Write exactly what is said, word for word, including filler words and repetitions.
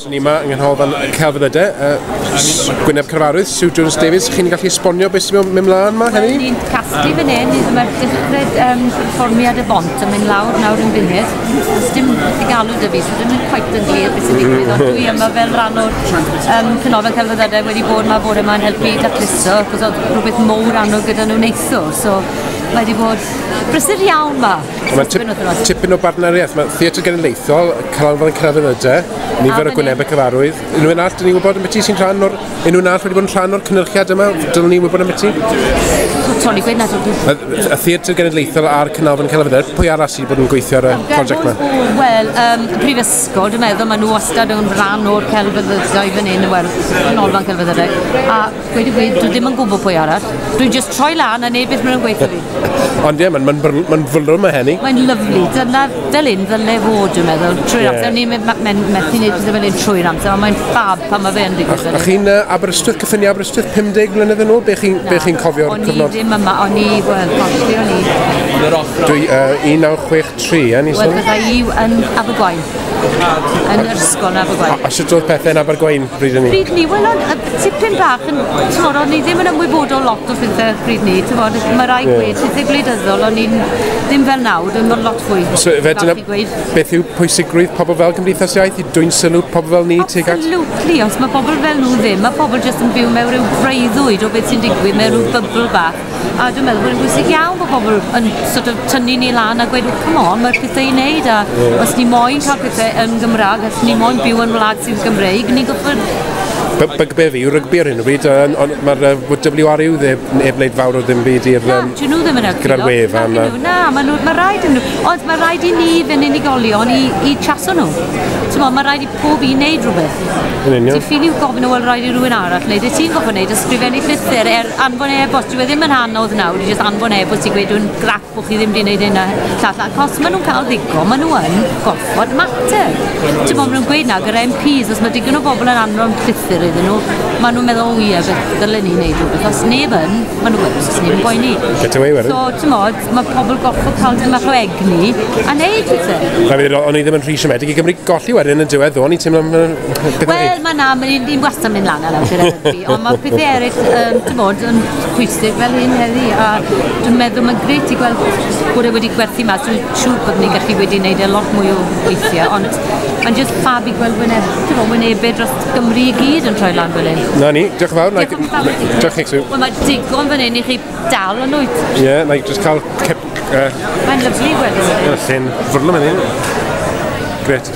So ni yma yng Nghanolfan Celfyddydau, uh, Gwyneb Cyfarwydd, Sue Jones Davies. Chi'n gallu esbonio beth sy'n mynd mlaen yma heddi? Wel, ni'n casglu fan hyn, mae'r dechrau um, perfformiad y bont yn mynd lawr nawr yn funud. Does dim beth i galw 'da fi, so ddim yn quite yn glir beth sy'n digwydd, ond dwi yma fel rhan o'r um, Canolfan Celfyddydau wedi bod yma bore yma'n helpu dacluso, cos oedd rhywbeth mowr arno gyda nhw neithiwr, so mae wedi bod brysur iawn ma. Mae tip, tipyn o bartneriaeth. Mae Theatr Genedlaethol, Canolfan Celfyddydau, nifer o gwynebau cyfarwydd. Unrhyw un arall, dyn ni'n gwybod am beth sy'n rhan o'r... Unrhyw un arall wedi bod yn rhan o'r cynhyrchiad yma? Dylwn ni wybod am beth? Tony, gweud na. Y Theatr Genedlaethol a'r Canolfan Celfyddydau, pwy arall sydd wedi bod yn gweithio ar y prosiect yma? Wel, um, y Prifysgol, dwi'n meddwl, maen nhw wastad yn rhan o'r celfyddydau fan hyn, wel, Canolfan Celfyddydau. A gweud y gwir, dwi ddim yn gwybod pwy arall. Dwi'n just troi lan a neud beth maen nhw'n gweithio fi. Ond ie, mae'n ma, ma, ma fwrlwm yma heni. Mae'n lyfli. Dyna fel un ddyle fod, dwi'n meddwl, trwy'r yeah. amser. Ni'n methu wneud pethau fel un trwy'r amser, ond mae'n ffab pan mae fe'n digwydd. A chi'n uh, Aberystwyth, cyffiniau Aberystwyth, pum deg mlynedd yn ôl? Be chi'n be chi cofio'r cyfnod? O'n i ddim yma, o'n i, wel, gosh, o'n i? Dwi, uh, un naw chwech tri, e, ni sôn? Wel, bydda i yn Abergwaun. Yn yr ysgol yn Abergwaun. A, a sut oedd pethau yn Abergwaun pryd ni? Pryd ni, wel, tipyn bach yn, t'mod, o'n i ddim yn ymwybodol lot o pethau pryd ni, t'mod, mae rai yeah. gweud, pethau gwleidyddol, o'n i'n ddim fel nawr, dwi'n bod lot fwy. So, fe, dyna, beth yw pwysigrwydd pobl fel Cymdeithas Iaith i dwyn sylw pobl fel ni tuag at? Absolutely, os mae pobl fel nhw ddim, mae pobl jyst yn byw mewn rhyw breuddwyd o beth sy'n digwydd, mewn rhyw bybl bach. A dwi'n meddwl bod yn bwysig iawn bod pobl yn sort of tynnu ni lan a gweud, come on, mae'r pethau i wneud, a yeah. os ni moyn cael pethau yn Gymraeg, os ni moyn byw yn wlad sy'n Gymreig, ni'n gorfod... Bygbe fi yw rygbi ar hyn o bryd, ond mae'r W R U ddim heb wneud fawr o ddim byd i'r... Na, dyn nhw ddim yn helpu. Gyda'r wefan. Na, mae rhaid nhw, ond mae rhaid i ni fe'n unigolion i, i chaso nhw. T'mo, mae rhaid i pob un wneud rhywbeth. Yn union. Ti'n ffili gofyn o, wel, rhaid i rhywun arall wneud. Ti'n gofyn wneud, ysgrifennu llythyr, er anfon e-bost. Dyw e ddim yn anodd nawr, i just anfon e-bost i gweud dwi'n grac bod chi ddim wedi wneud hyn a llall. Ac os maen nhw'n cael ddigon, maen nhw yn gorfod mater. Ti'n mo, maen nhw'n gweud na, gyda M Ps, os mae digon o bobl yn anfon llythyr iddyn nhw, maen nhw'n meddwl, o ie, beth ddylen ni wneud rhywbeth. Os neb yn, maen nhw'n gweud, os neb yn boeni. Get away with it. So, ti'n modd, mae pobl gorfod cael dim bach o egni a wneud pethau. O'n i ddim yn rhy siomedig i Gymru golli wedyn yn diwedd, o'n i'n teimlo... Wel, mae na, mae'n wastad mynd lan a lawr gyda rygbi, ond mae pethau eraill, um, ti'n modd, yn pwysig fel hyn heddi, a dwi'n meddwl mae'n grêt i gweld bod e wedi gwerthu mas. Dwi'n siŵr bod ni'n gallu wedi wneud e lot mwy o weithiau, ond mae'n just ffab i gweld wyneb, ti'n modd, wynebau dros Gymru i gyd yn troi lan fel hyn. Na ni, diolch yn fawr. Diolch i chi. Wel, mae digon fan hyn i chi dal yn wyt. Ie, yeah, na i just cael... Uh, mae'n lyfli gweld. Ie, lle'n fwrlwm yn hyn. Gret.